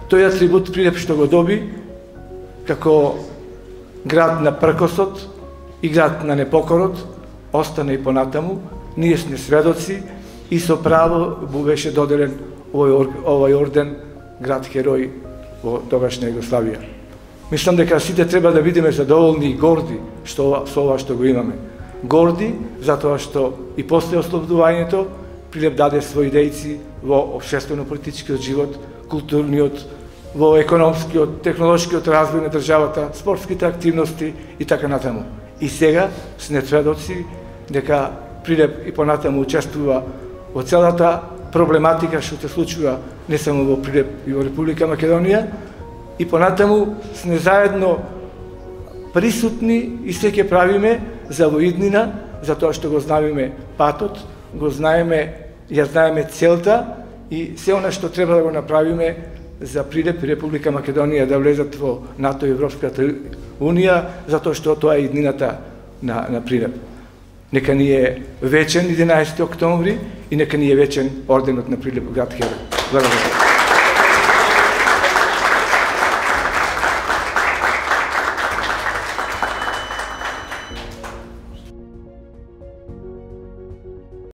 Тој атрибут Прилеп што го доби како град на пркосот и град на непокорот остана и понатаму. Ние сме сведоци и со право му беше доделен овој орден град херој во тогашна Југославија. Мислам дека сите треба да бидеме задоволни и горди со ова што го имаме. Горди затоа што и после ослободувањето Прилеп даде своји дејци во општествено-политичкиот живот, културниот, во економскиот, технолошкиот развој на државата, спортските активности и така натаму. И сега сме сведоци дека Прилеп и понатаму учествува во целата проблематика што се случува не само во Прилеп и во Република Македонија, и понатаму сме заедно присутни и се ќе правиме за во иднина, затоа што го знаеме патот, го знаеме, ја знаеме целта и се она што треба да го направиме за Прилеп и Република Македонија да влезат во НАТО и Европската Унија, затоа што тоа е иднината на Прилеп. Нека ни е вечен 11 октомври и нека ни е вечен орденот на Прилеп град херој. Благодарам.